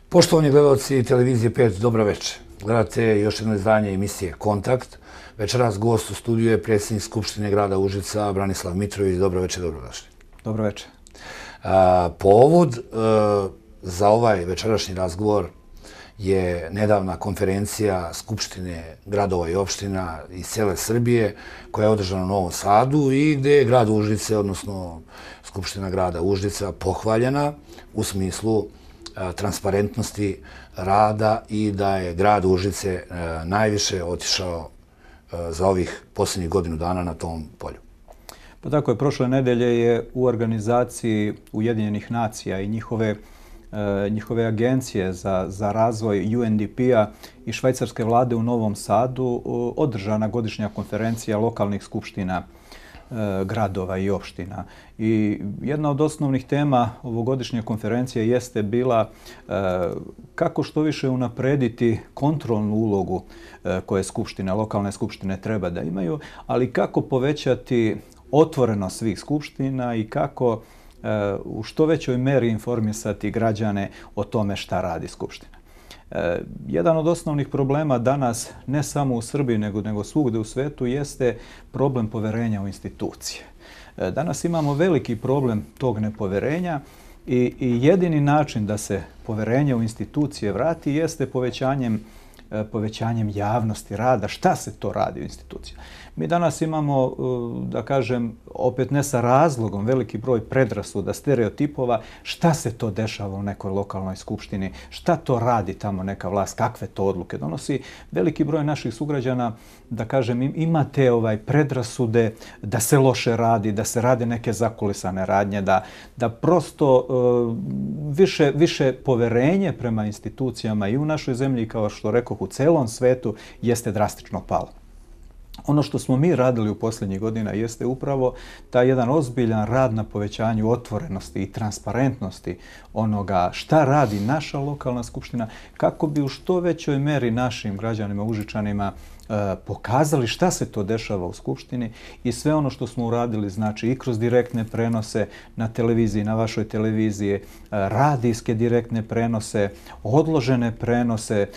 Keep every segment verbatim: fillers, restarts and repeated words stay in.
Poštovani gledalci televizije pet, dobro večer. Gledate još jedno izdanje emisije Kontakt. Večeras gost u studiju je predsjednik Skupštine grada Užica, Branislav Mitrović. Dobro večer, dobrodošli. Dobro večer. Povod za ovaj večerašnji razgovor je nedavna konferencija Skupštine gradova i opština iz cijele Srbije koja je održana u Novom Sadu i gdje je grad Užice, odnosno Skupština grada Užica, pohvaljena u smislu transparentnosti rada i da je grad Užice najviše otišao za ovih posljednjih godinu dana na tom polju. Pa tako je, prošle nedelje je u organizaciji Ujedinjenih nacija i njihove njihove agencije za, za razvoj U N D P-a i švajcarske vlade u Novom Sadu održana godišnja konferencija lokalnih skupština gradova i opština. I jedna od osnovnih tema ovogodišnje konferencije jeste bila kako što više unaprediti kontrolnu ulogu koje skupštine, lokalne skupštine treba da imaju, ali kako povećati otvorenost svih skupština i kako u što većoj meri informisati građane o tome šta radi Skupština. Jedan od osnovnih problema danas, ne samo u Srbiji, nego, nego svugde u svetu, jeste problem poverenja u institucije. Danas imamo veliki problem tog nepoverenja i, i jedini način da se poverenje u institucije vrati jeste povećanjem povećanjem javnosti rada. Šta se to radi u institucijama? Mi danas imamo, da kažem, opet ne sa razlogom, veliki broj predrasuda, stereotipova, šta se to dešava u nekoj lokalnoj skupštini, šta to radi tamo neka vlast, kakve to odluke donosi. Veliki broj naših sugrađana, da kažem, ima te ovaj, predrasude da se loše radi, da se rade neke zakulisane radnje, da, da prosto uh, više, više poverenje prema institucijama i u našoj zemlji, kao što rekoh, u celom svetu, jeste drastično palo. Ono što smo mi radili u posljednjih godina jeste upravo taj jedan ozbiljan rad na povećanju otvorenosti i transparentnosti onoga šta radi naša lokalna skupština, kako bi u što većoj meri našim građanima, Užičanima, pokazali šta se to dešava u Skupštini i sve ono što smo uradili, znači i kroz direktne prenose na televiziji, na vašoj televiziji, radijske direktne prenose, odložene prenose,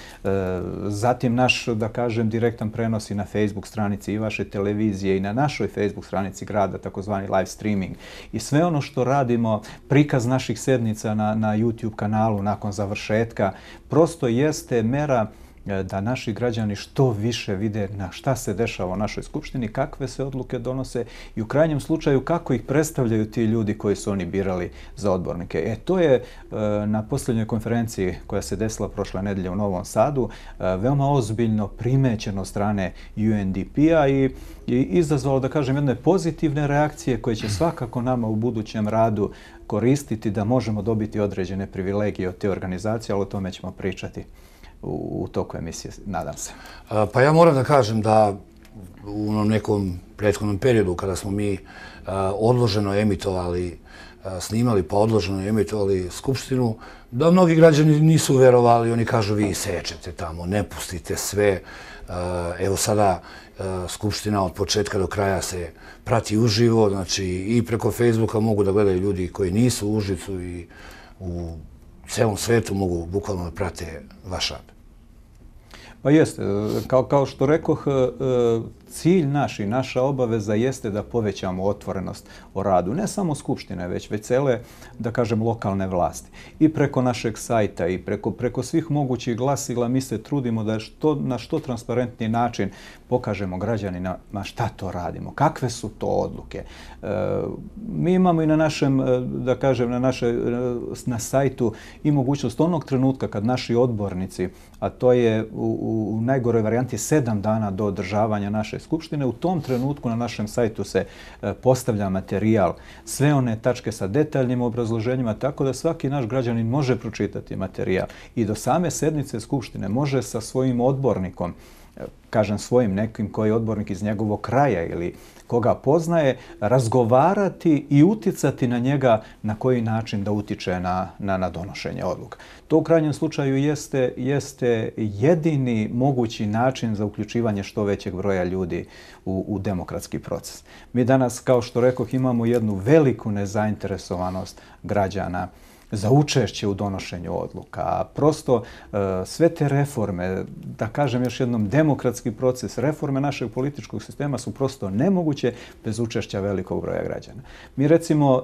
zatim naš, da kažem, direktan prenos i na Facebook stranici i vaše televizije i na našoj Facebook stranici grada, takozvani live streaming. I sve ono što radimo, prikaz naših sednica na, na YouTube kanalu nakon završetka, prosto jeste mera da naši građani što više vide na šta se dešava u našoj skupštini, kakve se odluke donose i u krajnjem slučaju kako ih predstavljaju ti ljudi koji su oni birali za odbornike. E, to je na posljednjoj konferenciji koja se desila prošle nedelje u Novom Sadu veoma ozbiljno primećeno od strane U N D P-a i, i izazvalo, da kažem, jedne pozitivne reakcije koje će svakako nama u budućem radu koristiti da možemo dobiti određene privilegije od te organizacije, ali o tome ćemo pričati u toku emisije, nadam se. Pa ja moram da kažem da u nekom prethodnom periodu kada smo mi odloženo emitovali, snimali pa odloženo emitovali Skupštinu, da mnogi građani nisu verovali, oni kažu vi sečete tamo, ne pustite sve. Evo sada Skupština od početka do kraja se prati uživo, znači i preko Facebooka mogu da gledaju ljudi koji nisu u Užicu i u celom svetu mogu bukvalno da prate vaš rad. Pa jeste. Kao, kao što rekoh, cilj naš i naša obaveza jeste da povećamo otvorenost o radu. Ne samo Skupštine, već već cele, da kažem, lokalne vlasti. I preko našeg sajta i preko, preko svih mogućih glasila mi se trudimo da što, na što transparentniji način pokažemo građanima šta to radimo, kakve su to odluke. E, mi imamo i na našem, da kažem, na, naše, na sajtu i mogućnost onog trenutka kad naši odbornici, a to je u, u najgoroj varijanti sedam dana do održavanja naše Skupštine, u tom trenutku na našem sajtu se postavlja materijal, sve one tačke sa detaljnim obrazloženjima, tako da svaki naš građanin može pročitati materijal i do same sednice Skupštine može sa svojim odbornikom, kažem svojim nekim koji je odbornik iz njegovog kraja ili koga poznaje, razgovarati i uticati na njega na koji način da utiče na, na, na donošenje odluka. To u krajnjem slučaju jeste, jeste jedini mogući način za uključivanje što većeg broja ljudi u, u demokratski proces. Mi danas, kao što rekoh, imamo jednu veliku nezainteresovanost građana za učešće u donošenju odluka. A prosto sve te reforme, da kažem još jednom, demokratski proces, reforme našeg političkog sistema su prosto nemoguće bez učešća velikog broja građana. Mi recimo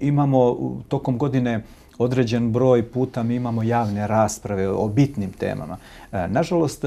imamo tokom godine određen broj puta mi imamo javne rasprave o bitnim temama. Nažalost,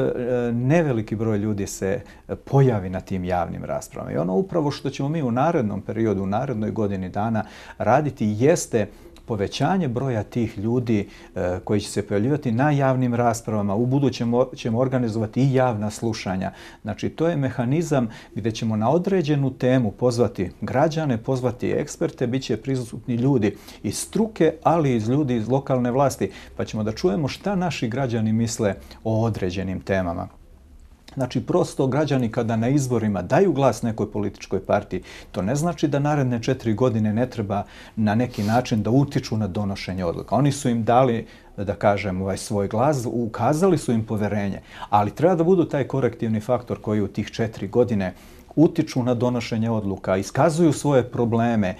neveliki broj ljudi se pojavi na tim javnim raspravama. I ono upravo što ćemo mi u narednom periodu, u narednoj godini dana raditi jeste povećanje broja tih ljudi e, koji će se pojavljivati na javnim raspravama. U budućem ćemo organizovati i javna slušanja. Znači, to je mehanizam gdje ćemo na određenu temu pozvati građane, pozvati eksperte, bit će prisutni ljudi iz struke, ali i iz ljudi iz lokalne vlasti, pa ćemo da čujemo šta naši građani misle o određenim temama. Znači, prosto građani kada na izborima daju glas nekoj političkoj partiji, to ne znači da naredne četiri godine ne treba na neki način da utiču na donošenje odluka. Oni su im dali, da kažem, ovaj svoj glas, ukazali su im poverenje, ali treba da budu taj korektivni faktor koji u tih četiri godine utiču na donošenje odluka, iskazuju svoje probleme, e,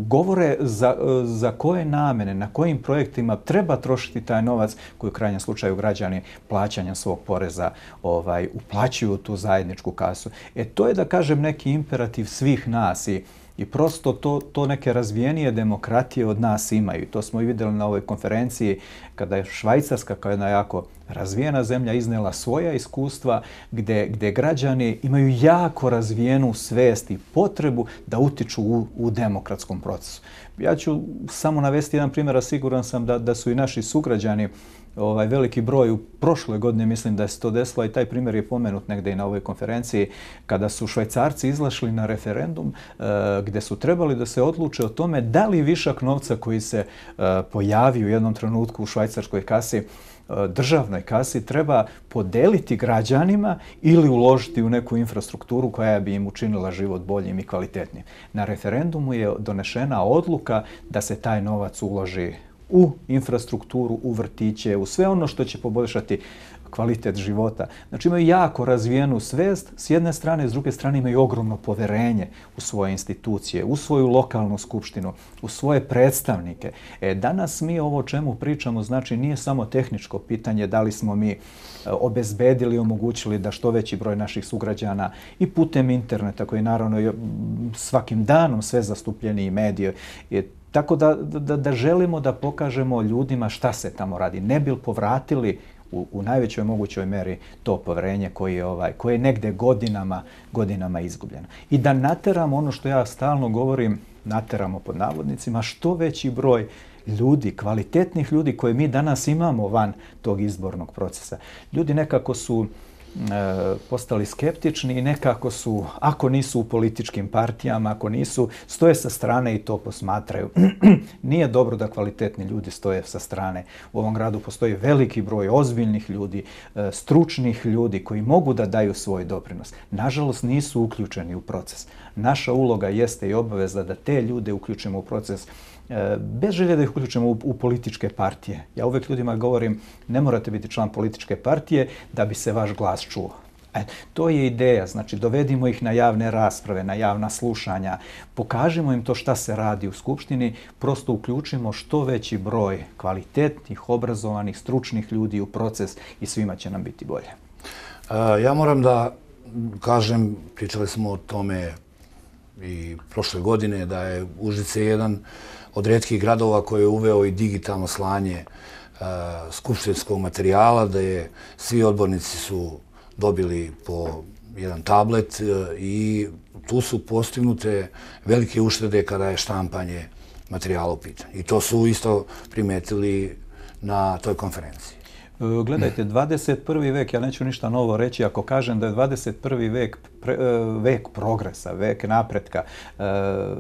govore za, za koje namene, na kojim projektima treba trošiti taj novac koji u krajnjem slučaju građani plaćanjem svog poreza ovaj, uplaćuju u tu zajedničku kasu. E to je, da kažem, neki imperativ svih nas i I prosto to, to neke razvijenije demokratije od nas imaju. To smo i vidjeli na ovoj konferenciji kada je Švajcarska kao jedna jako razvijena zemlja iznela svoja iskustva gdje, gdje građani imaju jako razvijenu svest i potrebu da utiču u, u demokratskom procesu. Ja ću samo navesti jedan primjer, a siguran sam da, da su i naši sugrađani ovaj veliki broj u prošle godine, mislim da je se to desilo i taj primjer je pomenut negdje i na ovoj konferenciji, kada su Švajcarci izlašli na referendum e, gdje su trebali da se odluče o tome da li višak novca koji se e, pojavi u jednom trenutku u švajcarskoj kasi, e, državnoj kasi, treba podeliti građanima ili uložiti u neku infrastrukturu koja bi im učinila život boljim i kvalitetnim. Na referendumu je donešena odluka da se taj novac uloži u infrastrukturu, u vrtiće, u sve ono što će poboljšati kvalitet života. Znači imaju jako razvijenu svest s jedne strane, s druge strane imaju ogromno poverenje u svoje institucije, u svoju lokalnu skupštinu, u svoje predstavnike. E, danas mi ovo o čemu pričamo, znači nije samo tehničko pitanje da li smo mi obezbedili i omogućili da što veći broj naših sugrađana i putem interneta, koji naravno svakim danom sve zastupljeniji medije, je tako da, da, da želimo da pokažemo ljudima šta se tamo radi. Ne bi povratili u, u najvećoj mogućoj meri to poverenje koje je, ovaj, koje je negde godinama, godinama izgubljeno. I da nateramo ono što ja stalno govorim, nateramo pod navodnicima, što veći broj ljudi, kvalitetnih ljudi koje mi danas imamo van tog izbornog procesa. Ljudi nekako su postali skeptični i nekako su, ako nisu u političkim partijama, ako nisu, stoje sa strane i to posmatraju. Nije dobro da kvalitetni ljudi stoje sa strane. U ovom gradu postoji veliki broj ozbiljnih ljudi, stručnih ljudi koji mogu da daju svoj doprinos. Nažalost, nisu uključeni u proces. Naša uloga jeste i obaveza da te ljude uključimo u proces bez želje da ih uključimo u, u političke partije. Ja uvek ljudima govorim, ne morate biti član političke partije da bi se vaš glas čuo. E, to je ideja, znači dovedimo ih na javne rasprave, na javna slušanja, pokažimo im to šta se radi u Skupštini, prosto uključimo što veći broj kvalitetnih, obrazovanih, stručnih ljudi u proces i svima će nam biti bolje. E, ja moram da kažem, pričali smo o tome i prošle godine, da je Užice jedan od rijetkih gradova koji je uveo i digitalno slanje uh, skupštinskog materijala, da je svi odbornici su dobili po jedan tablet uh, i tu su postignute velike uštede kada je štampanje materijala u pitanju. I to su isto primetili na toj konferenciji. Gledajte, dvadeset prvi vek, ja neću ništa novo reći ako kažem da je dvadeset prvi vek pre, vek progresa, vek napretka.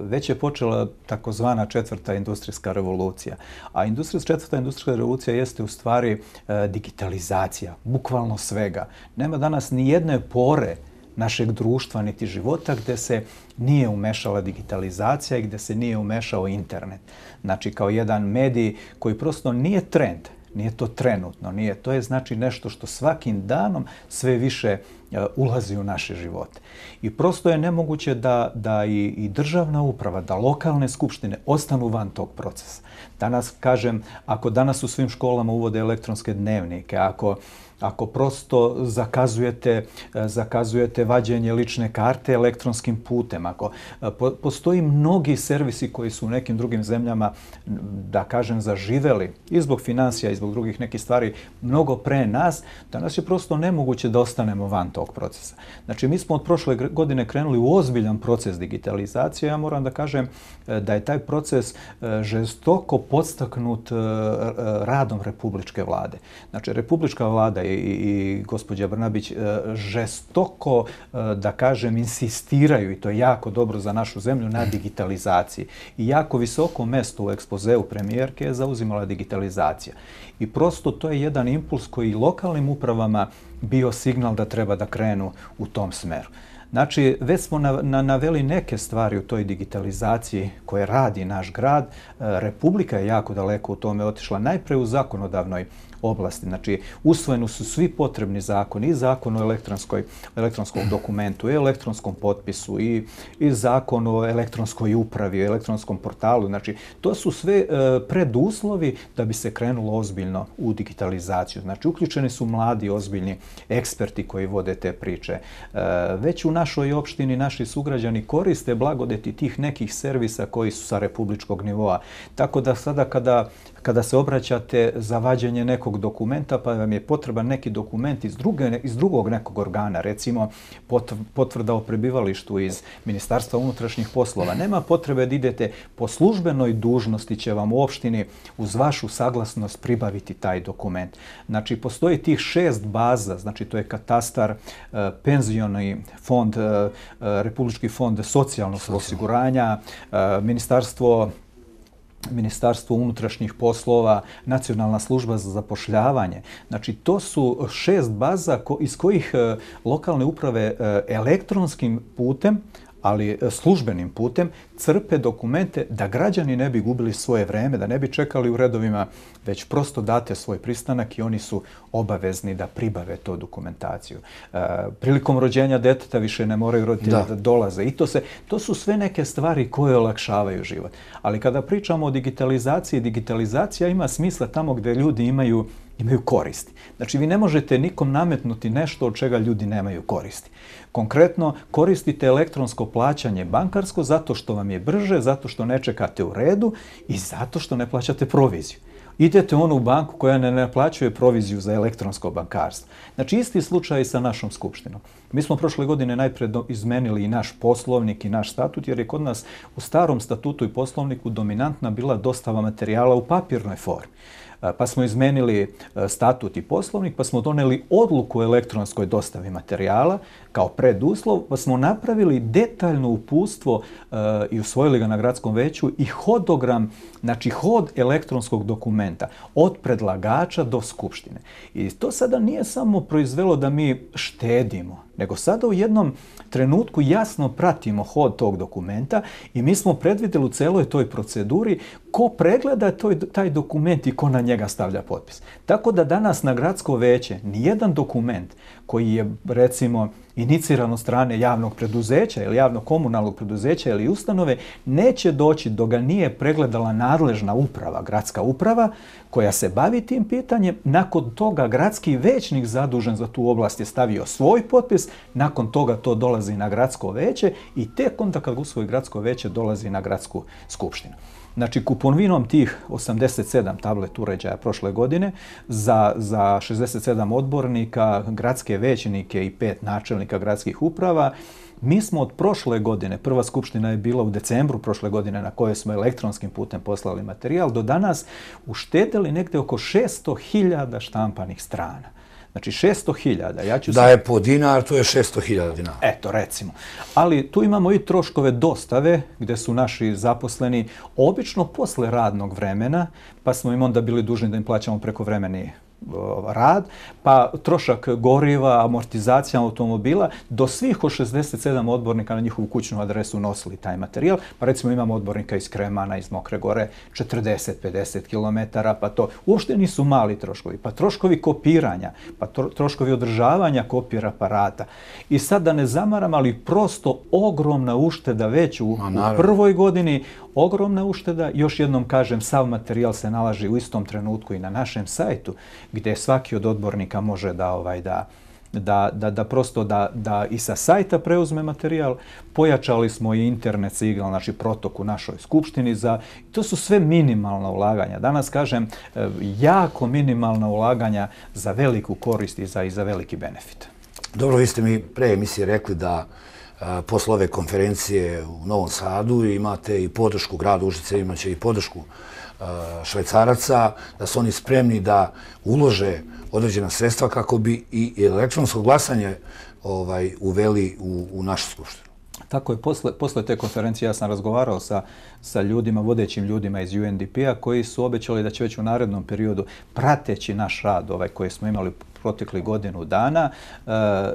Već je počela takozvana četvrta industrijska revolucija. A industrijska, četvrta industrijska revolucija jeste u stvari digitalizacija, bukvalno svega. Nema danas ni jedne pore našeg društva niti života gdje se nije umešala digitalizacija i gdje se nije umešao internet. Znači kao jedan medij koji prosto nije trend, nije to trenutno, nije. To je znači nešto što svakim danom sve više ulazi u naše živote. I prosto je nemoguće da, da i, i državna uprava, da lokalne skupštine ostanu van tog procesa. Danas, kažem, ako danas u svim školama uvode elektronske dnevnike, ako Ako prosto zakazujete, zakazujete vađenje lične karte elektronskim putem, ako po, postoji mnogi servisi koji su u nekim drugim zemljama, da kažem, zaživeli i zbog financija i zbog drugih nekih stvari mnogo pre nas, danas je prosto nemoguće da ostanemo van tog procesa. Znači, mi smo od prošle godine krenuli u ozbiljan proces digitalizacije. Ja moram da kažem da je taj proces žestoko podstaknut radom Republičke vlade. Znači, Republička vlada i, i gospođa Brnabić žestoko, da kažem, insistiraju, i to je jako dobro za našu zemlju, na digitalizaciji. I jako visoko mesto u ekspozeu premijerke je zauzimala digitalizacija. I prosto to je jedan impuls koji lokalnim upravama bio signal da treba da krenu u tom smeru. Znači, već smo na, na, naveli neke stvari u toj digitalizaciji koje radi naš grad. Republika je jako daleko u tome otišla, najpre u zakonodavnoj oblasti. Znači, usvojeni su svi potrebni zakoni, i zakon o elektronskoj, elektronskom dokumentu, i elektronskom potpisu, i, i zakon o elektronskoj upravi, o elektronskom portalu. Znači, to su sve e, preduslovi da bi se krenulo ozbiljno u digitalizaciju. Znači, uključeni su mladi, ozbiljni eksperti koji vode te priče. E, već u našoj opštini naši sugrađani koriste blagodeti tih nekih servisa koji su sa republičkog nivoa. Tako da sada kada Kada se obraćate za vađenje nekog dokumenta, pa vam je potreban neki dokument iz, druge, iz drugog nekog organa, recimo potvrda o prebivalištu iz Ministarstva unutrašnjih poslova, nema potrebe da idete po službenoj dužnosti, će vam u opštini uz vašu saglasnost pribaviti taj dokument. Znači, postoji tih šest baza, znači to je katastar, penzioni fond, Republički fond socijalnog osiguranja, Ministarstvo Ministarstvo unutrašnjih poslova, Nacionalna služba za zapošljavanje. Znači, to su šest baza iz kojih lokalne uprave elektronskim putem, ali službenim putem, crpe dokumente da građani ne bi gubili svoje vreme, da ne bi čekali u redovima, već prosto date svoj pristanak i oni su obavezni da pribave to dokumentaciju. E, prilikom rođenja deteta više ne moraju roditelji da. da dolaze. I to, se, to su sve neke stvari koje olakšavaju život. Ali kada pričamo o digitalizaciji, digitalizacija ima smisla tamo gdje ljudi imaju imaju koristi. Znači, vi ne možete nikom nametnuti nešto od čega ljudi nemaju koristi. Konkretno, koristite elektronsko plaćanje bankarsko zato što vam je brže, zato što ne čekate u redu i zato što ne plaćate proviziju. Idete u onu banku koja ne naplaćuje proviziju za elektronsko bankarstvo. Znači, isti slučaj sa našom skupštinom. Mi smo prošle godine najpre izmenili i naš poslovnik i naš statut, jer je kod nas u starom statutu i poslovniku dominantna bila dostava materijala u papirnoj formi. Pa smo izmenili statut i poslovnik, pa smo doneli odluku o elektronskoj dostavi materijala kao preduslov, pa smo napravili detaljno uputstvo uh, i usvojili ga na gradskom veću i hodogram, znači hod elektronskog dokumenta od predlagača do skupštine. I to sada nije samo proizvelo da mi štedimo, nego sada u jednom trenutku jasno pratimo hod tog dokumenta i mi smo predvidjeli u celoj toj proceduri ko pregleda toj, taj dokument i ko na njega stavlja potpis. Tako da danas na gradsko veće nijedan dokument koji je, recimo, iniciran od strane javnog preduzeća ili javnog komunalnog preduzeća ili ustanove, neće doći dok ga nije pregledala nadležna uprava, gradska uprava, koja se bavi tim pitanjem. Nakon toga gradski većnik zadužen za tu oblast je stavio svoj potpis, nakon toga to dolazi na gradsko veće i tek onda kad usvoji gradsko veće dolazi na gradsku skupštinu. Znači, kupovinom tih osamdeset sedam tablet uređaja prošle godine za, za šezdeset sedam odbornika, gradske većnike i pet načelnika gradskih uprava, mi smo od prošle godine, prva skupština je bila u decembru prošle godine na kojoj smo elektronskim putem poslali materijal, do danas uštedili negdje oko šesto hiljada štampanih strana. Znači šesto hiljada. Ja ću da je po dinar, to je šesto hiljada dinara. Eto, recimo. Ali tu imamo i troškove dostave gdje su naši zaposleni obično posle radnog vremena, pa smo im onda bili dužni da im plaćamo prekovremeni rad, pa trošak goriva, amortizacija automobila, do svih od šezdeset sedam odbornika na njihovu kućnu adresu nosili taj materijal. Pa recimo imamo odbornika iz Kremana, iz Mokre Gore, četrdeset pedeset kilometara, pa to uopšte nisu mali troškovi. Pa troškovi kopiranja, pa troškovi održavanja kopir aparata. I sad da ne zamaram, ali prosto ogromna ušteda već u, u prvoj godini, ogromna ušteda. Još jednom kažem, sav materijal se nalazi u istom trenutku i na našem sajtu, gdje svaki od odbornika može da ovaj da da da da prosto da da i sa sajta preuzme materijal. Pojačali smo i internet signal, znači protok u našoj skupštini za to su sve minimalna ulaganja. Danas kažem jako minimalna ulaganja za veliku korist i za i za veliki benefit. Dobro, vi ste mi pre emisije rekli da a, posle ove konferencije u Novom Sadu imate i podršku grada Užice, imaće i podršku a, Švajcaraca, da su oni spremni da ulože određena sredstva kako bi i elektronsko glasanje ovaj, uveli u, u našu skupštinu. Tako je, posle, posle te konferencije ja sam razgovarao sa, sa ljudima, vodećim ljudima iz U N D P-a koji su obećali da će već u narednom periodu, prateći naš rad ovaj, koji smo imali protekli godinu dana,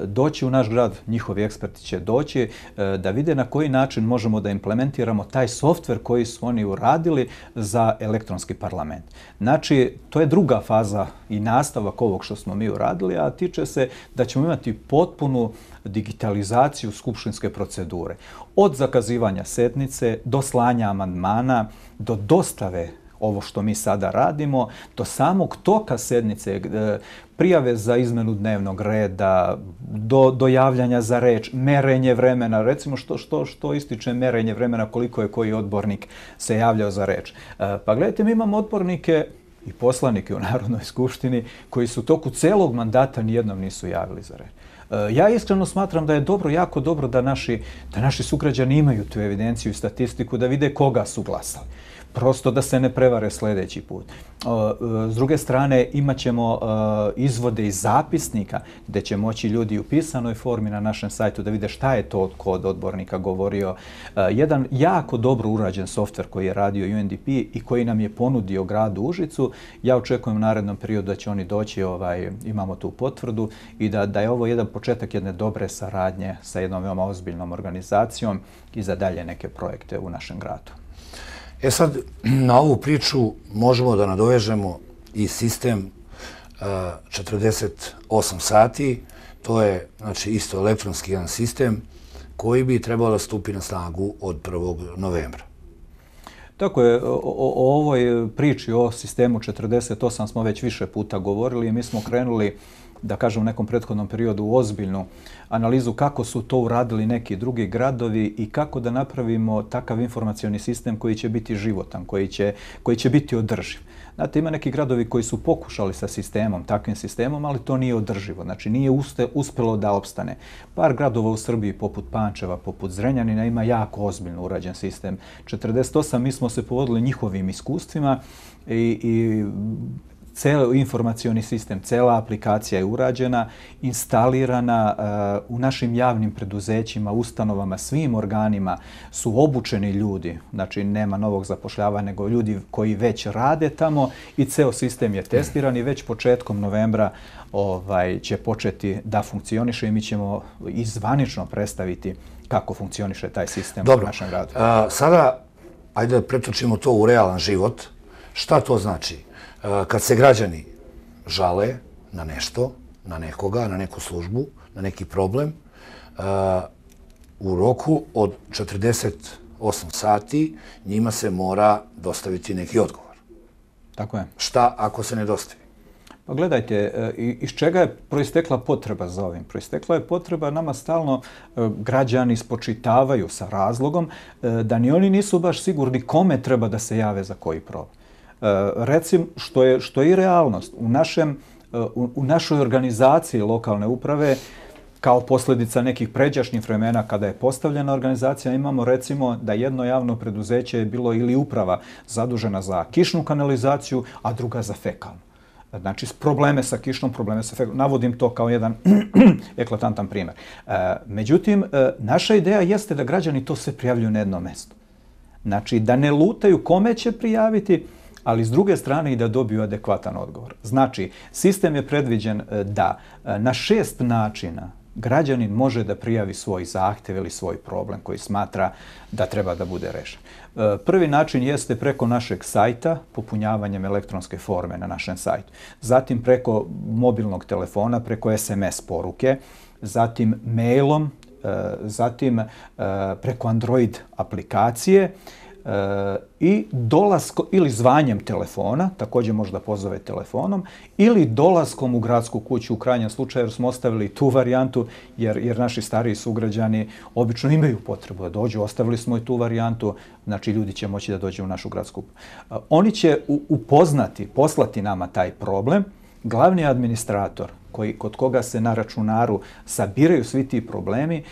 doći u naš grad, njihovi eksperti će doći da vide na koji način možemo da implementiramo taj softver koji su oni uradili za elektronski parlament. Znači, to je druga faza i nastavak ovog što smo mi uradili, a tiče se da ćemo imati potpunu digitalizaciju skupštinske procedure. Od zakazivanja sednice, do slanja amandmana, do dostave ovo što mi sada radimo, do samog toka sednice, prijave za izmenu dnevnog reda, do, do javljanja za reč, merenje vremena, recimo što, što, što ističe merenje vremena, koliko je koji odbornik se javljao za reč. Pa gledajte, mi imamo odbornike i poslanike u Narodnoj skupštini koji su u toku celog mandata nijednom nisu javili za reč. Ja iskreno smatram da je dobro, jako dobro da naši, da naši sugrađani imaju tu evidenciju i statistiku, da vide koga su glasali. Prosto da se ne prevare sljedeći put. S druge strane, imat ćemo izvode iz zapisnika gdje će moći ljudi u pisanoj formi na našem sajtu da vide šta je to kod odbornika govorio. Jedan jako dobro urađen softver koji je radio U N D P i koji nam je ponudio gradu Užicu. Ja očekujem u narednom periodu da će oni doći, ovaj, imamo tu potvrdu i da, da je ovo jedan početak jedne dobre saradnje sa jednom veoma ozbiljnom organizacijom i za dalje neke projekte u našem gradu. E sad, na ovu priču možemo da nadovežemo i sistem četrdeset osam sati. To je znači, isto elektronski jedan sistem koji bi trebao da stupi na snagu od prvog novembra. Tako je, o, o ovoj priči o sistemu četrdeset osam smo već više puta govorili i mi smo krenuli, da kažem u nekom prethodnom periodu, u ozbiljnu analizu kako su to uradili neki drugi gradovi i kako da napravimo takav informacioni sistem koji će biti životan, koji će, koji će biti održiv. Znate, ima neki gradovi koji su pokušali sa sistemom, takvim sistemom, ali to nije održivo. Znači, nije uste, uspelo da opstane. Par gradova u Srbiji, poput Pančeva, poput Zrenjanina, ima jako ozbiljno urađen sistem. četrdeset osam, mi smo se povodili njihovim iskustvima i, i ceo informacioni sistem, cela aplikacija je urađena, instalirana uh, u našim javnim preduzećima, ustanovama, svim organima su obučeni ljudi, znači nema novog zapošljavanja, nego ljudi koji već rade tamo i ceo sistem je testiran i već početkom novembra ovaj, će početi da funkcioniše i mi ćemo izvanično predstaviti kako funkcioniše taj sistem Dobro. u našem gradu. A, sada, ajde da pretočimo to u realan život. Šta to znači? Kad se građani žale na nešto, na nekoga, na neku službu, na neki problem, u roku od četrdeset osam sati njima se mora dostaviti neki odgovor. Tako je. Šta ako se ne dostavi? Pa gledajte, iz čega je proistekla potreba za ovim? Proistekla je potreba, nama stalno građani spočitavaju sa razlogom da ni oni nisu baš sigurni kome treba da se jave za koji problem. Recim, što je, što je i realnost. U, našem, u, u našoj organizaciji lokalne uprave, kao posljedica nekih pređašnjih vremena kada je postavljena organizacija, imamo recimo da jedno javno preduzeće je bilo ili uprava zadužena za kišnu kanalizaciju, a druga za fekalnu. Znači, probleme sa kišnom, probleme sa fekalnom. Navodim to kao jedan eklatantan primjer. Međutim, naša ideja jeste da građani to sve prijavljuju na jedno mesto. Znači, da ne lutaju kome će prijaviti, ali s druge strane i da dobiju adekvatan odgovor. Znači, sistem je predviđen da na šest načina građanin može da prijavi svoj zahtev ili svoj problem koji smatra da treba da bude rešen. Prvi način jeste preko našeg sajta, popunjavanjem elektronske forme na našem sajtu. Zatim preko mobilnog telefona, preko es em es poruke, zatim mailom, zatim preko Android aplikacije, i dolaskom ili zvanjem telefona, također možda pozove telefonom, ili dolaskom u gradsku kuću u krajnjem slučaju, jer smo ostavili tu varijantu, jer, jer naši stariji sugrađani obično imaju potrebu da dođu, ostavili smo i tu varijantu, znači ljudi će moći da dođu u našu gradsku. Oni će upoznati, poslati nama taj problem, glavni administrator koji, kod koga se na računaru sabiraju svi ti problemi,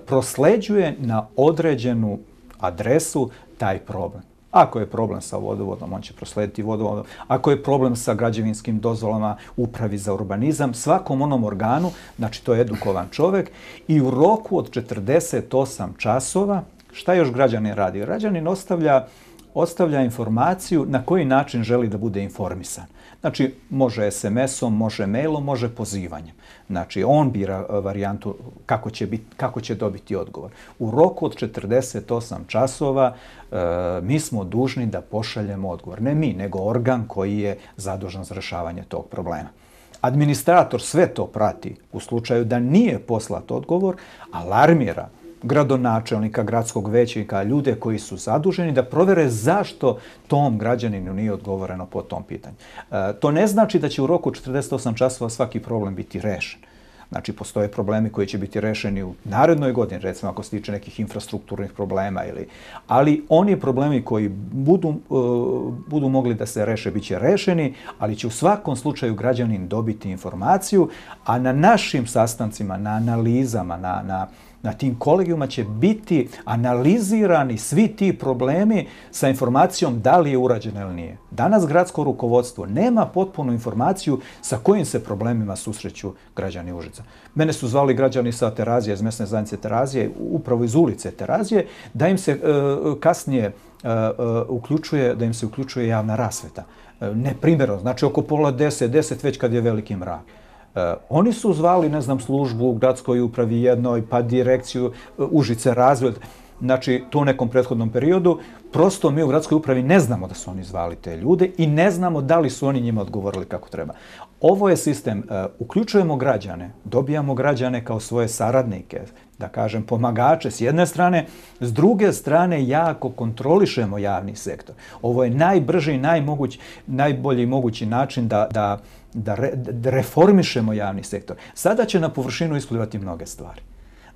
prosleđuje na određenu adresu taj problem. Ako je problem sa vodovodom, on će proslediti vodovodom. Ako je problem sa građevinskim dozvolama, upravi za urbanizam, svakom onom organu, znači to je edukovan čovjek, i u roku od četrdeset osam časova, šta još građanin radi? Građanin ostavlja, ostavlja informaciju na koji način želi da bude informisan. Znači, može es em esom, može mailom, može pozivanjem. Znači, on bira varijantu kako će, biti, kako će dobiti odgovor. U roku od četrdeset osam časova e, mi smo dužni da pošaljemo odgovor. Ne mi, nego organ koji je zadužen za rešavanje tog problema. Administrator sve to prati u slučaju da nije poslat odgovor, alarmira gradonačelnika, gradskog većnika, ljude koji su zaduženi da provere zašto tom građaninu nije odgovoreno po tom pitanju. E, to ne znači da će u roku četrdeset osam časova svaki problem biti rešen. Znači, postoje problemi koji će biti rešeni u narednoj godini, recimo ako se tiče nekih infrastrukturnih problema, ili, ali oni problemi koji budu, uh, budu mogli da se reše, bit će rešeni, ali će u svakom slučaju građanin dobiti informaciju, a na našim sastancima, na analizama, na, na Na tim kolegijuma će biti analizirani svi ti problemi sa informacijom da li je urađeno ili nije. Danas gradsko rukovodstvo nema potpunu informaciju sa kojim se problemima susreću građani Užica. Mene su zvali građani sa Terazije, iz mesne zajednice Terazije, upravo iz ulice Terazije, da im se e, kasnije e, uključuje, da im se uključuje javna rasveta. E, neprimjerno, znači oko pola deset, deset već kad je veliki mrak. Uh, oni su zvali, ne znam, službu u gradskoj upravi jednoj, pa direkciju uh, Užice razvoj. Znači, to u nekom prethodnom periodu. Prosto mi u gradskoj upravi ne znamo da su oni zvali te ljude i ne znamo da li su oni njima odgovorili kako treba. Ovo je sistem. Uh, uključujemo građane, dobijamo građane kao svoje saradnike, da kažem, pomagače s jedne strane, s druge strane jako kontrolišemo javni sektor. Ovo je najbrži i najmoguć, najbolji mogući način da, da Da, re, da reformišemo javni sektor. Sada će na površinu isplivati mnoge stvari.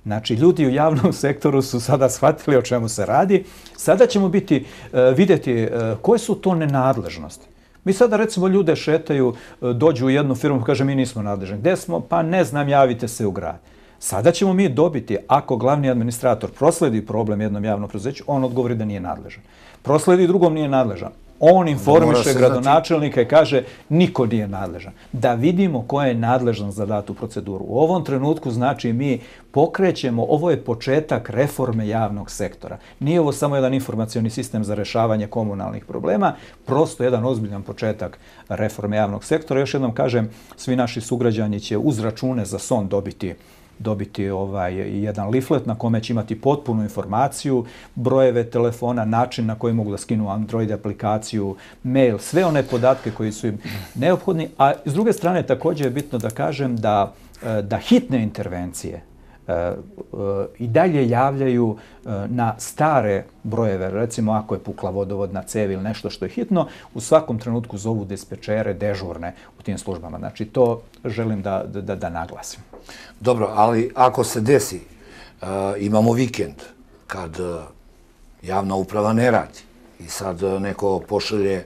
Znači, ljudi u javnom sektoru su sada shvatili o čemu se radi. Sada ćemo biti, uh, vidjeti uh, koje su to nenadležnosti. Mi sada, recimo, ljude šetaju, uh, dođu u jednu firmu, kaže, mi nismo nadležni. Gde smo? Pa ne znam, javite se u grad. Sada ćemo mi dobiti, ako glavni administrator prosledi problem jednom javnom preduzeću, on odgovori da nije nadležan. Prosledi drugom, nije nadležan. On informiše gradonačelnika i kaže niko nije nadležan. Da vidimo ko je nadležan za datu proceduru. U ovom trenutku znači mi pokrećemo, ovo je početak reforme javnog sektora. Nije ovo samo jedan informacioni sistem za rešavanje komunalnih problema, prosto jedan ozbiljan početak reforme javnog sektora. Još jednom kažem, svi naši sugrađani će uz račune za son dobiti dobiti ovaj jedan leaflet na kome će imati potpunu informaciju, brojeve telefona, način na koji mogu da skinu Android aplikaciju, mail, sve one podatke koji su im neophodni. A s druge strane također je bitno da kažem da, da hitne intervencije i dalje javljaju na stare brojeve. Recimo, ako je pukla vodovodna cev ili nešto što je hitno, u svakom trenutku zovu dispečere dežurne u tim službama. Znači, to želim da, da, da naglasim. Dobro, ali ako se desi, uh, imamo vikend kad uh, javna uprava ne radi i sad uh, neko pošalje,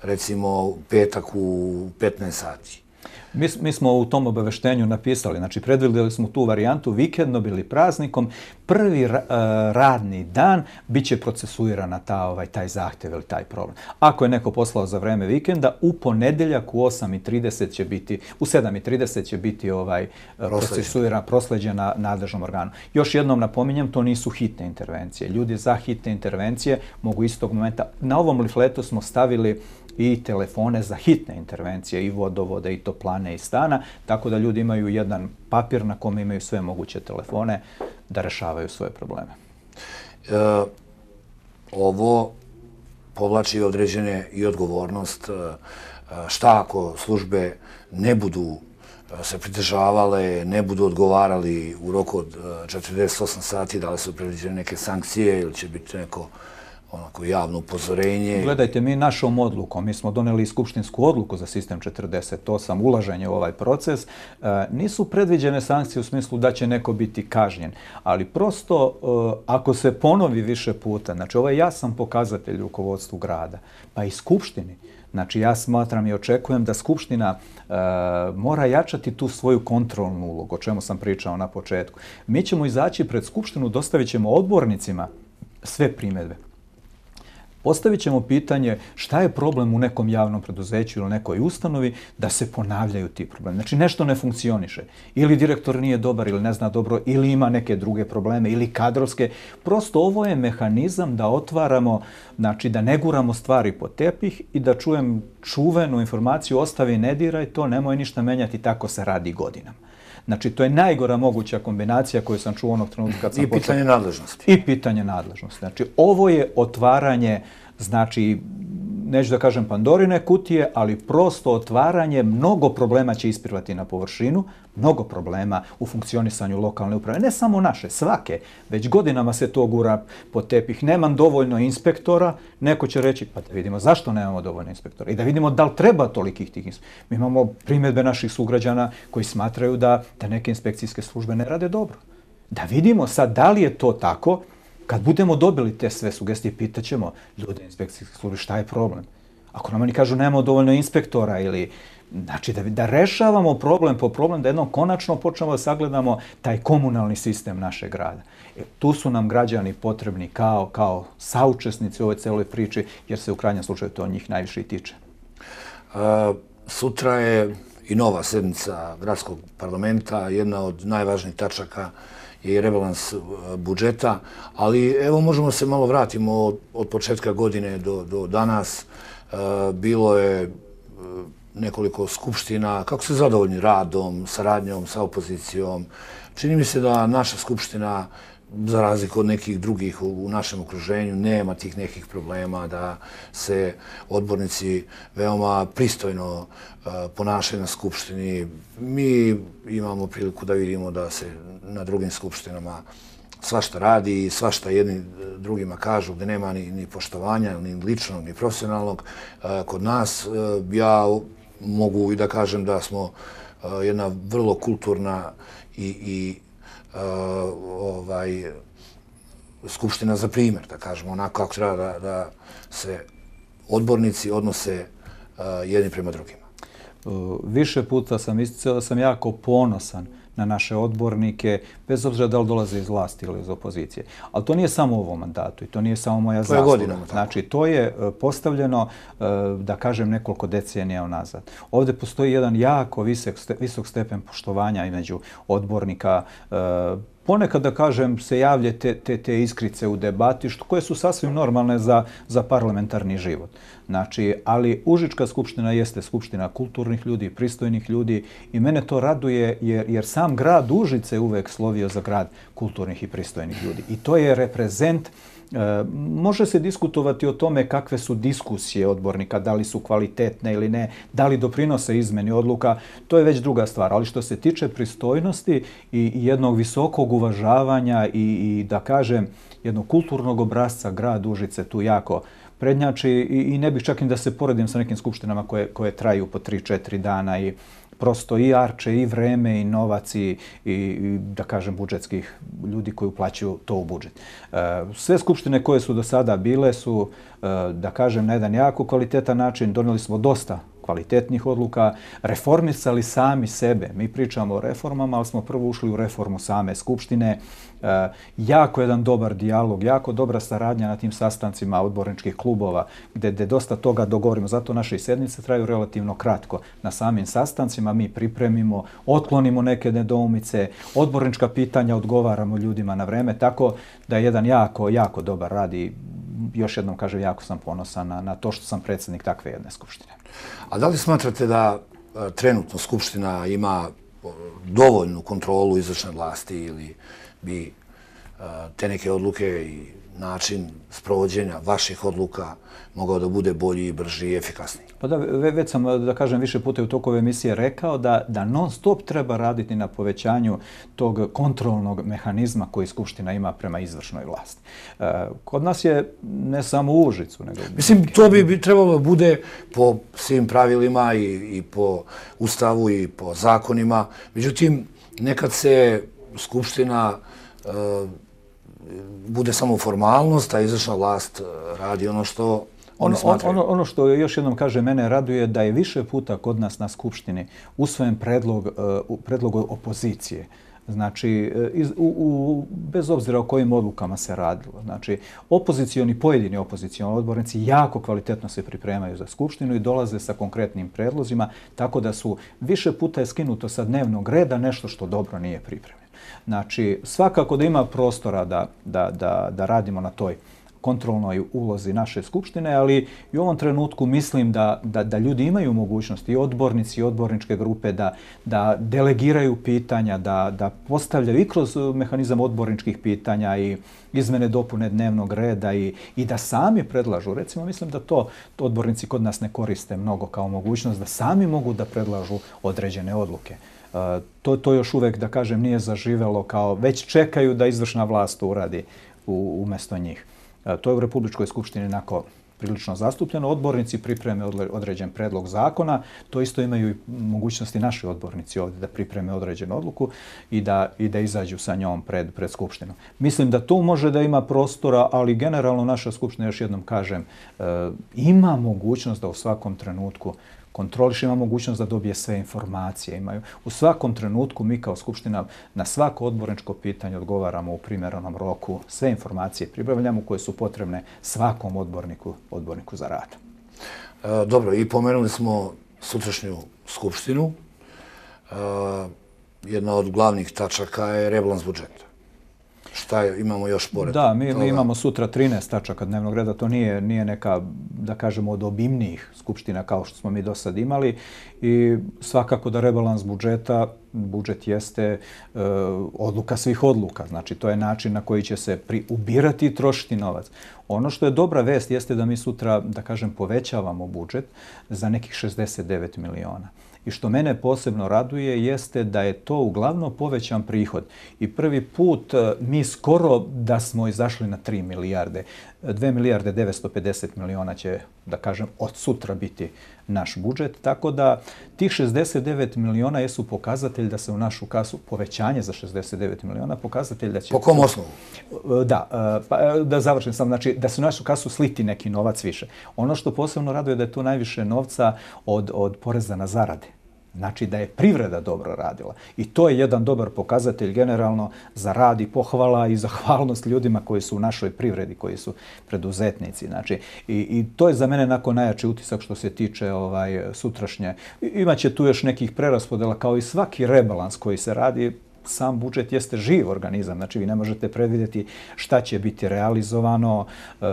recimo, petak u petnaest sati. Mi, mi smo u tom obaveštenju napisali, znači predvidjeli smo tu varijantu vikendom ili praznikom, prvi ra, uh, radni dan bit će procesuirana ta, ovaj, taj zahtjev ili taj problem. Ako je neko poslao za vreme vikenda, u ponedeljak u osam i trideset će biti, u sedam i trideset će biti ovaj, procesuirana, prosleđena nadležnom organu. Još jednom napominjem, to nisu hitne intervencije. Ljudi za hitne intervencije mogu istog momenta. Na ovom leafletu smo stavili i telefone za hitne intervencije, i vodovode, i toplane, i stana, tako da ljudi imaju jedan papir na kome imaju sve moguće telefone da rešavaju svoje probleme. E, ovo povlači određene i odgovornost. Šta ako službe ne budu se pridržavale, ne budu odgovarali u roku od četrdeset osam sati, da li su predviđene neke sankcije ili će biti neko onako javno upozorenje? Gledajte, mi našom odlukom, mi smo doneli skupštinsku odluku za sistem četrdeset osam, ulaženje u ovaj proces, nisu predviđene sankcije u smislu da će neko biti kažnjen, ali prosto ako se ponovi više puta, znači ovo je jasan pokazatelj rukovodstvu grada, pa i skupštini. Znači, ja smatram i očekujem da Skupština e, mora jačati tu svoju kontrolnu ulogu, o čemu sam pričao na početku. Mi ćemo izaći pred Skupštinu, dostavit ćemo odbornicima sve primjedbe. Postavit ćemo pitanje šta je problem u nekom javnom preduzeću ili nekoj ustanovi da se ponavljaju ti problemi. Znači, nešto ne funkcioniše. Ili direktor nije dobar ili ne zna dobro, ili ima neke druge probleme, ili kadrovske. Prosto ovo je mehanizam da otvaramo, znači da ne guramo stvari po tepih i da čujem čuvenu informaciju, ostavi i ne diraj to, nemoj ništa menjati, tako se radi godinama. Znači, to je najgora moguća kombinacija koju sam čuo onog trenutka kad sam I pitanje počeo... nadležnosti. I pitanje nadležnosti. Znači, ovo je otvaranje, znači, neću da kažem Pandorine kutije, ali prosto otvaranje, mnogo problema će isplivati na površinu, mnogo problema u funkcionisanju lokalne uprave. Ne samo naše, svake. Već godinama se to gura po tepih. Nemam dovoljno inspektora, neko će reći, pa da vidimo zašto nemamo dovoljno inspektora i da vidimo da li treba tolikih tih inspektora. Mi imamo primjedbe naših sugrađana koji smatraju da, da neke inspekcijske službe ne rade dobro. Da vidimo sad da li je to tako. Kad budemo dobili te sve sugestije, pitaćemo ljude inspekcijske službe šta je problem. Ako nam oni kažu nemamo dovoljno inspektora ili znači da, da rešavamo problem po problem, da jednom konačno počnemo da sagledamo taj komunalni sistem našeg grada. E, tu su nam građani potrebni kao, kao saučesnici u ovoj celoj priči, jer se u krajnjem slučaju to njih najviše i tiče. A, sutra je i nova sednica gradskog parlamenta, jedna od najvažnijih tačaka je i rebalans budžeta, ali evo možemo se malo vratimo od, od početka godine do, do danas. E, bilo je nekoliko skupština. Kako ste zadovoljni radom, saradnjom sa opozicijom? Čini mi se da naša skupština, za razliku od nekih drugih u, u našem okruženju, nema tih nekih problema, da se odbornici veoma pristojno uh, ponašaju na skupštini. Mi imamo priliku da vidimo da se na drugim skupštinama svašta radi i svašta jedni drugima kažu, gde nema ni, ni poštovanja, ni ličnog, ni profesionalnog. Uh, kod nas uh, ja mogu i da kažem da smo uh, jedna vrlo kulturna i, i Uh, ovaj, skupština za primjer, da kažemo, onako kako treba da, da se odbornici odnose uh, jedni prema drugima. Uh, više puta sam isticao da sam jako ponosan na naše odbornike, bez obzira da li dolaze iz vlasti ili iz opozicije. Ali to nije samo u ovom mandatu i to nije samo moja zasluga. To je godinama. Znači, to je postavljeno, da kažem, nekoliko decenija unazad. Ovdje postoji jedan jako visok, visok stepen poštovanja između odbornika. Ponekad, da kažem, se javlje te, te, te iskrice u debati, što, koje su sasvim normalne za, za parlamentarni život. Znači, ali Užička skupština jeste skupština kulturnih ljudi, pristojnih ljudi i mene to raduje jer, jer sam grad Užice je uvek slovio za grad kulturnih i pristojnih ljudi. I to je reprezent. E, može se diskutovati o tome kakve su diskusije odbornika, da li su kvalitetne ili ne, da li doprinose izmeni odluka, to je već druga stvar. Ali što se tiče pristojnosti i jednog visokog uvažavanja i, i da kažem, jednog kulturnog obrazca, grad Užice tu jako prednjači i, i ne bih čak i da se poredim sa nekim skupštinama koje, koje traju po tri četiri dana i prosto i arče, i vreme, i novac, i, i, i da kažem budžetskih ljudi koji uplaćuju to u budžet. E, sve skupštine koje su do sada bile su, e, da kažem, na jedan jako kvalitetan način. Donijeli smo dosta kvalitetnih odluka, reformisali sami sebe. Mi pričamo o reformama, ali smo prvo ušli u reformu same skupštine. E, jako jedan dobar dijalog, jako dobra saradnja na tim sastancima odborničkih klubova, gde, gde dosta toga dogovorimo. Zato naše i sednice traju relativno kratko. Na samim sastancima mi pripremimo, otklonimo neke nedoumice, odbornička pitanja odgovaramo ljudima na vreme, tako da je jedan jako, jako dobar rad i još jednom kažem, jako sam ponosan na, na to što sam predsjednik takve jedne skupštine. A da li smatrate da a, trenutno skupština ima dovoljnu kontrolu izvršne vlasti ili bi a, te neke odluke i način sprovođenja vaših odluka mogao da bude bolji, brži i efikasniji? Pa da, već sam, da kažem, više puta u toku ove emisije rekao da, da non stop treba raditi na povećanju tog kontrolnog mehanizma koji Skupština ima prema izvršnoj vlasti. E, kod nas je ne samo u Užicu, nego... Mislim, to bi, bi trebalo da bude po svim pravilima i, i po Ustavu i po zakonima. Međutim, nekad se Skupština e, bude samo formalnost, a izvršna vlast radi ono što oni smatraju. Ono, ono što još jednom kaže, mene raduje da je više puta kod nas na Skupštini usvojen predlog, uh, predlog opozicije. Znači, iz, u, u, bez obzira o kojim odlukama se radilo. Znači, opozicioni, pojedini opozicioni odbornici jako kvalitetno se pripremaju za Skupštinu i dolaze sa konkretnim predlozima, tako da su više puta je skinuto sa dnevnog reda nešto što dobro nije pripremljeno. Znači, svakako da ima prostora da, da, da, da radimo na toj kontrolnoj ulozi naše skupštine, ali i u ovom trenutku mislim da, da, da ljudi imaju mogućnost, i odbornici i odborničke grupe, da, da delegiraju pitanja, da, da postavljaju i kroz mehanizam odborničkih pitanja i izmene dopune dnevnog reda i, i da sami predlažu. Recimo, mislim da to, to odbornici kod nas ne koriste mnogo kao mogućnost, da sami mogu da predlažu određene odluke. Uh, to, to još uvek, da kažem, nije zaživelo kao već čekaju da izvršna vlast uradi u, umjesto njih. Uh, to je u Republičkoj skupštini onako prilično zastupljeno. Odbornici pripreme određen predlog zakona. To isto imaju i mogućnosti naši odbornici ovdje da pripreme određenu odluku i da, i da izađu sa njom pred, pred skupštinu. Mislim da tu može da ima prostora, ali generalno naša skupština, još jednom kažem, uh, ima mogućnost da u svakom trenutku kontroliš, ima mogućnost da dobije sve informacije. Imaju. U svakom trenutku mi kao Skupština na svako odborničko pitanje odgovaramo u primjerenom roku. Sve informacije pribavljamo koje su potrebne svakom odborniku, odborniku za rad. E, dobro, i pomenuli smo sutrašnju Skupštinu. E, jedna od glavnih tačaka je rebalans budžeta. Šta je, imamo još pored Da, mi, toga? mi imamo sutra trinaest tačaka dnevnog reda. To nije, nije neka, da kažemo, od obimnijih skupština kao što smo mi do sad imali. I svakako da rebalans budžeta, budžet jeste e, odluka svih odluka. Znači, to je način na koji će se pri, ubirati i trošiti novac. Ono što je dobra vest jeste da mi sutra, da kažem, povećavamo budžet za nekih šezdeset devet miliona. I što mene posebno raduje jeste da je to uglavnom povećan prihod. I prvi put mi skoro da smo izašli na tri milijarde. dve milijarde devetsto pedeset miliona će, da kažem, od sutra biti naš budžet. Tako da tih šezdeset devet miliona jesu pokazatelj da se u našu kasu, povećanje za šezdeset devet miliona, pokazatelj da će... Po kom osnovu? Da, pa, da završim sam. Znači, da se u našu kasu sliti neki novac više. Ono što posebno raduje da je tu najviše novca od, od poreza na zarade. Znači da je privreda dobro radila. I to je jedan dobar pokazatelj generalno za rad i pohvala i zahvalnost ljudima koji su u našoj privredi, koji su preduzetnici. Znači, i, i to je za mene nakon najjači utisak što se tiče ovaj, sutrašnje. Imaće tu još nekih preraspodela kao i svaki rebalans koji se radi. Sam budžet jeste živ organizam, znači vi ne možete predvidjeti šta će biti realizovano. E,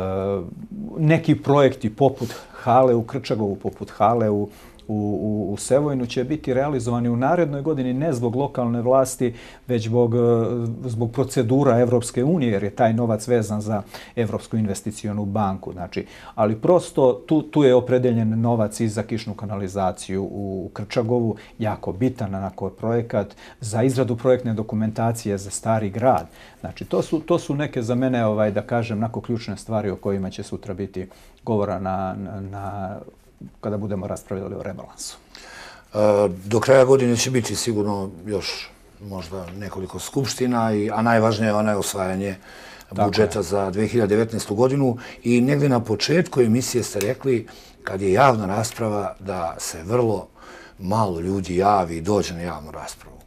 neki projekti poput hale u Krčagovu, poput hale u U, u, u Sevojnu će biti realizovani u narednoj godini ne zbog lokalne vlasti, već zbog, zbog procedura Evropske unije, jer je taj novac vezan za Evropsku investicionu banku. Znači, ali prosto tu, tu je opredeljen novac i za kišnu kanalizaciju u Krčagovu, jako bitan onako projekat, za izradu projektne dokumentacije za Stari grad. Znači, to su, to su neke za mene, ovaj, da kažem, nako ključne stvari o kojima će sutra biti govora na, na, na kada budemo raspravljali o rebalansu. Do kraja godine će biti sigurno još možda nekoliko skupština, i, a najvažnije je onaj osvajanje budžeta za dve hiljade devetnaestu. godinu. I negdje na početku emisije ste rekli, kad je javna rasprava, da se vrlo malo ljudi javi i dođe na javnu raspravu.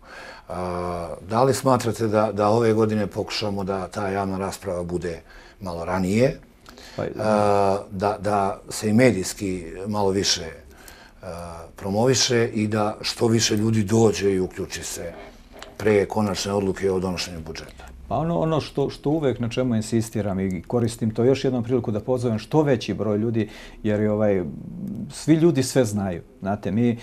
Da li smatrate da, da ove godine pokušamo da ta javna rasprava bude malo ranije, da, da se i medijski malo više promoviše i da što više ljudi dođe i uključi se pre konačne odluke o donošenju budžeta? Pa ono, ono što, što uvek na čemu insistiram i koristim to još jednom priliku da pozovem što veći broj ljudi, jer je ovaj, svi ljudi sve znaju. Znate, mi, e,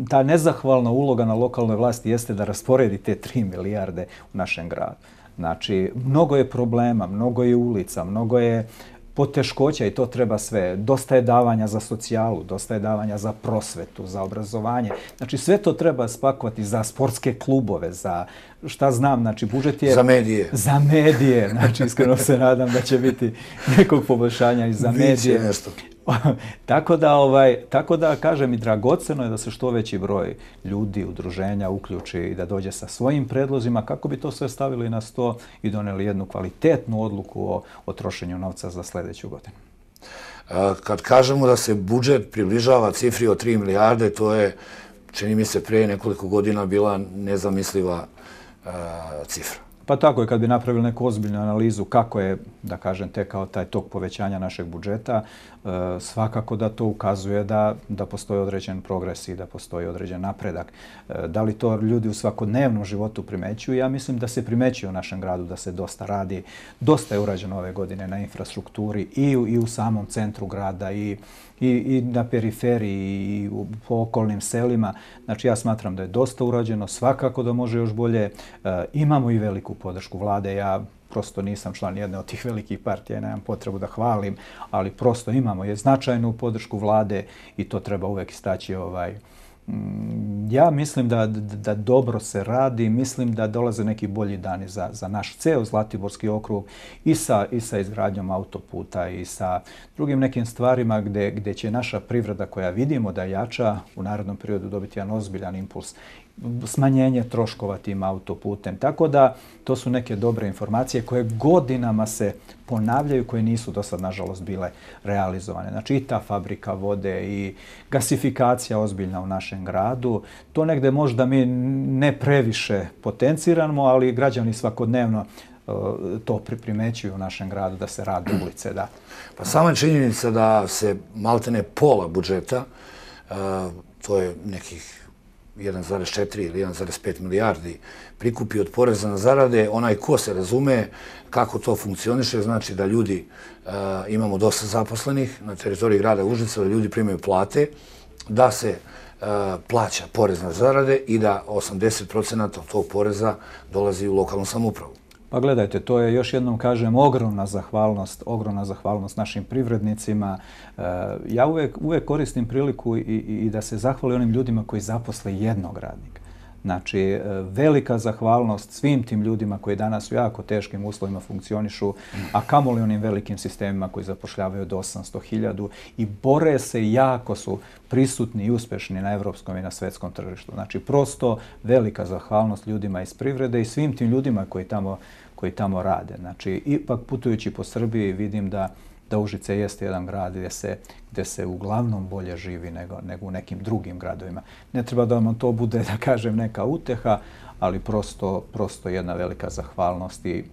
ta nezahvalna uloga na lokalnoj vlasti jeste da rasporedi te tri milijarde u našem gradu. Znači, mnogo je problema, mnogo je ulica, mnogo je poteškoća i to treba sve. Dosta je davanja za socijalu, dosta je davanja za prosvetu, za obrazovanje. Znači sve to treba spakovati za sportske klubove, za šta znam, znači budžet je... Za medije. Za medije. Znači iskreno se nadam da će biti nekog poboljšanja i za medije. Biće nešto. Tako da, ovaj, tako da, kažem, i dragoceno je da se što veći broj ljudi, udruženja uključi i da dođe sa svojim predlozima kako bi to sve stavili na sto i doneli jednu kvalitetnu odluku o, o trošenju novca za sljedeću godinu. Kad kažemo da se budžet približava cifri od tri milijarde, to je, čini mi se, prije nekoliko godina bila nezamisliva uh, cifra. Pa tako je, kad bi napravili neku ozbiljnu analizu kako je, da kažem, tekao taj tok povećanja našeg budžeta, svakako da to ukazuje da, da postoji određen progres i da postoji određen napredak. Da li to ljudi u svakodnevnom životu primećuju? Ja mislim da se primećuje u našem gradu, da se dosta radi. Dosta je urađeno ove godine na infrastrukturi i u, i u samom centru grada i, i, i na periferiji i u, po okolnim selima. Znači ja smatram da je dosta urađeno, svakako da može još bolje. E, imamo i veliku podršku vlade. Ja prosto nisam član jedne od tih velikih partija i nemam potrebu da hvalim, ali prosto imamo je značajnu podršku vlade i to treba uvek istaći. Ovaj, ja mislim da, da, da dobro se radi, mislim da dolaze neki bolji dani za, za naš ceo Zlatiborski okrug i sa, i sa izgradnjom autoputa i sa drugim nekim stvarima gde, gde će naša privreda koja vidimo da jača u narednom periodu dobiti jedan ozbiljan impuls, smanjenje troškova tim autoputem. Tako da to su neke dobre informacije koje godinama se ponavljaju, koje nisu do sad, nažalost, bile realizovane. Znači i ta fabrika vode i gasifikacija ozbiljna u našem gradu. To negde možda mi ne previše potenciramo, ali građani svakodnevno uh, to primećuju u našem gradu da se rade ulice. Da. Pa sama činjenica da se maltene pola budžeta, uh, to je nekih jedan zarez četiri ili jedan zarez pet milijardi prikupi od poreza na zarade, onaj ko se razume kako to funkcioniše, znači da ljudi, uh, imamo dosta zaposlenih na teritoriji grada Užica, da ljudi primaju plate, da se uh, plaća porez na zarade i da osamdeset procenata tog poreza dolazi u lokalnu samoupravu. Pa gledajte, to je, još jednom kažem, ogromna zahvalnost, ogromna zahvalnost našim privrednicima. Ja uvek, uvek koristim priliku i, i, i da se zahvali onim ljudima koji zaposle jednog radnika. Znači, velika zahvalnost svim tim ljudima koji danas u jako teškim uslovima funkcionišu, a kamoli onim velikim sistemima koji zapošljavaju do osamsto hiljada i bore se, jako su prisutni i uspešni na evropskom i na svetskom tržištu. Znači, prosto velika zahvalnost ljudima iz privrede i svim tim ljudima koji tamo, koji tamo rade. Znači, ipak putujući po Srbiji vidim da da Užice jeste jedan grad gdje se, gdje se uglavnom bolje živi nego, nego u nekim drugim gradovima. Ne treba da vam to bude, da kažem, neka uteha, ali prosto, prosto jedna velika zahvalnost i,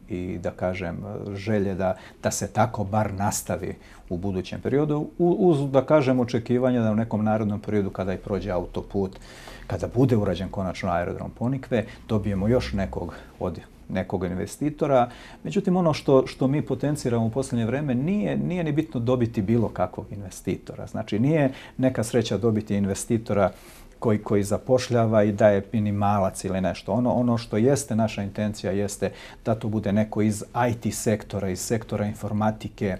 i da kažem, želje da, da se tako bar nastavi u budućem periodu, uz, da kažem, očekivanja da u nekom narodnom periodu kada i prođe autoput, kada bude urađen konačno aerodrom Ponikve, dobijemo još nekog od nekog investitora. Međutim, ono što, što mi potenciramo u posljednje vreme nije, nije ni bitno dobiti bilo kakvog investitora. Znači, nije neka sreća dobiti investitora koji, koji zapošljava i daje minimalac ili nešto. Ono, ono što jeste naša intencija jeste da to bude neko iz I T sektora, iz sektora informatike,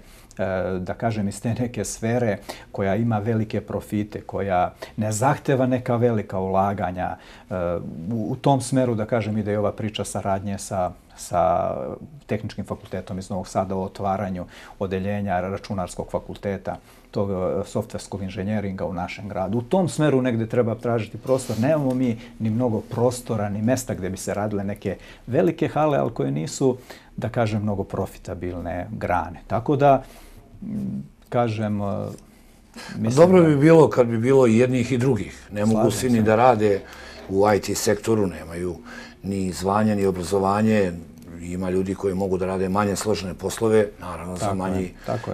da kažem iz te neke sfere koja ima velike profite, koja ne zahteva neka velika ulaganja. U tom smeru, da kažem, ide i ova priča saradnje sa, sa Tehničkim fakultetom iz Novog Sada o otvaranju odeljenja računarskog fakulteta, tog softverskog inženjeringa u našem gradu. U tom smeru negde treba tražiti prostor. Nemamo mi ni mnogo prostora, ni mesta gdje bi se radile neke velike hale, ali koje nisu, da kažem, mnogo profitabilne grane. Tako da, kažem, mislim... Dobro bi bilo kad bi bilo i jednih i drugih. Ne mogu svi ni da rade u I T sektoru, nemaju ni zvanje, ni obrazovanje. Ima ljudi koji mogu da rade manje složene poslove, naravno za manji,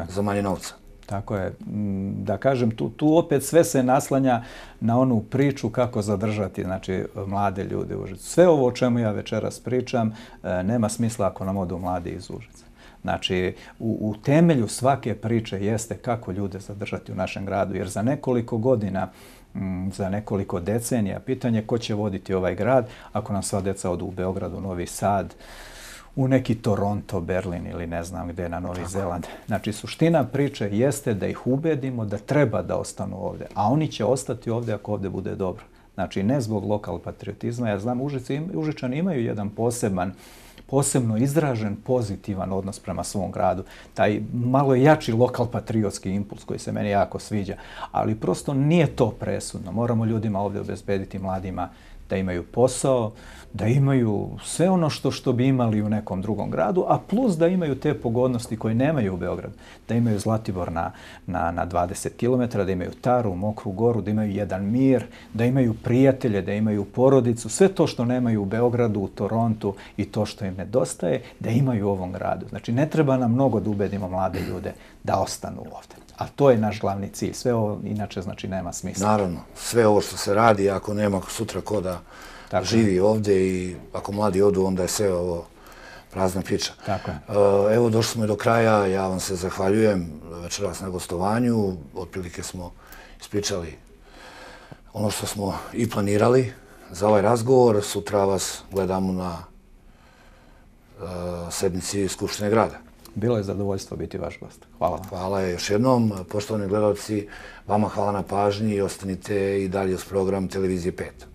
za manje novca. Tako je. Da kažem, tu, tu opet sve se naslanja na onu priču kako zadržati, znači, mlade ljude u Užicu. Sve ovo o čemu ja večeras pričam nema smisla ako nam odu mladi iz Užica. Znači, u, u temelju svake priče jeste kako ljude zadržati u našem gradu, jer za nekoliko godina, za nekoliko decenija, pitanje ko će voditi ovaj grad ako nam sva deca odu u Beograd, u Novi Sad, u neki Toronto, Berlin ili ne znam gde, na Novi Zeland. Znači, suština priče jeste da ih ubedimo da treba da ostanu ovdje, a oni će ostati ovdje ako ovdje bude dobro. Znači, ne zbog lokal patriotizma. Ja znam, Užici, Užičani imaju jedan poseban, posebno izražen pozitivan odnos prema svom gradu. Taj malo jači lokal patriotski impuls koji se meni jako sviđa. Ali prosto nije to presudno. Moramo ljudima ovdje obezbediti, mladima, da imaju posao, da imaju sve ono što, što bi imali u nekom drugom gradu, a plus da imaju te pogodnosti koje nemaju u Beogradu. Da imaju Zlatibor na, na, na dvadeset kilometara, da imaju Taru, Mokru Goru, da imaju jedan mir, da imaju prijatelje, da imaju porodicu. Sve to što nemaju u Beogradu, u Torontu i to što im nedostaje, da imaju u ovom gradu. Znači, ne treba nam mnogo da ubedimo mlade ljude da ostanu ovdje. A to je naš glavni cilj. Sve ovo inače znači nema smisla. Naravno, sve ovo što se radi, ako nema sutra ko da Tako živi je. ovdje i ako mladi odu, onda je sve ovo prazna priča. Tako je. Evo, došli smo i do kraja. Ja vam se zahvaljujem večeras na gostovanju. Otprilike smo ispričali ono što smo i planirali za ovaj razgovor. Sutra vas gledamo na sednici Skupštine grada. Bilo je zadovoljstvo biti vaš gost. Hvala vam. Hvala još jednom. Poštovani gledalci, vama hvala na pažnji i ostanite i dalje uz program Televizije pet.